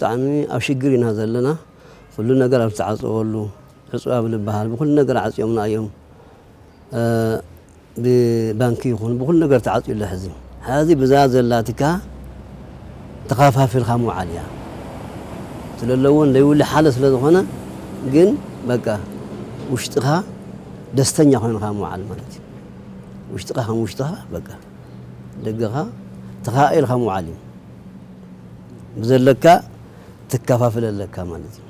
ብጣዕሚ ኣብ ሽግር ኢና ዘለና። ኩሉ ነገር ኣብ ዝተዓፀወሉ ዕፁብ ኣብ ዝበሃል ብኩሉ ነገር ዓፅዮምና እዮም። ብባንኪ ይኹን ብኩሉ ነገር ተዓፅዩ ኣሎ። ሕዚ ሕዚ ብዛ ዘላትካ ተኻፋፊልካ ምውዓል እያ ስለለዎ ለይውሊ ሓደ ስለዝኾነ ግን በቃ ውሽጥኻ ደስተኛ ኮይንካ ምውዓል ማለት እዩ። ውሽጥኻ ከም ውሽጥኻ በቃ ደገኻ ተኻኢልካ ምውዓል እዩ። ብዘለካ ትከፋፍል ኣለካ ማለት እዩ።